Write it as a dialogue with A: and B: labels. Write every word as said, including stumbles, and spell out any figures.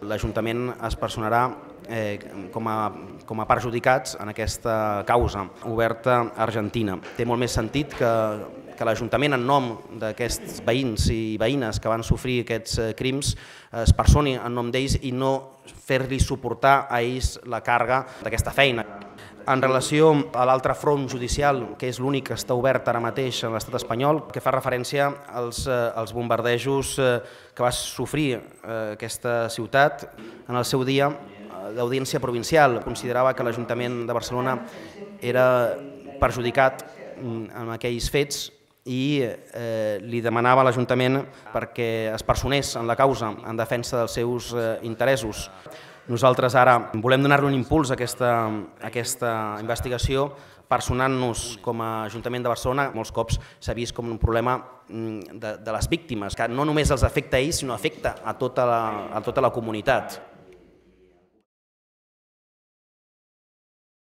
A: L'Ajuntament es personarà eh, com, a, com a perjudicats en aquesta causa oberta a Argentina. Té molt més sentit que, que l'Ajuntament, en nom d'aquests veïns i veïnes que van sofrir aquests crims, es personi en nom d'ells i no fer-li suportar a ells la càrrega d'aquesta feina. En relació a l'altre front judicial, que és l'únic que està obert ara mateix a l'estat espanyol, que fa referència als, als bombardejos que va sofrir aquesta ciutat en el seu dia, l'Audiència Provincial considerava que l'Ajuntament de Barcelona era perjudicat en aquells fets i eh, li demanava a l'Ajuntament perquè es personés en la causa en defensa dels seus eh, interessos. Nosaltres ara volem donar-li un impuls a aquesta, a aquesta investigació, personant-nos com a Ajuntament de Barcelona. Molts cops s'ha vist com un problema de, de les víctimes, que no només els afecta a ells, sinó afecta a tota la, a tota la comunitat.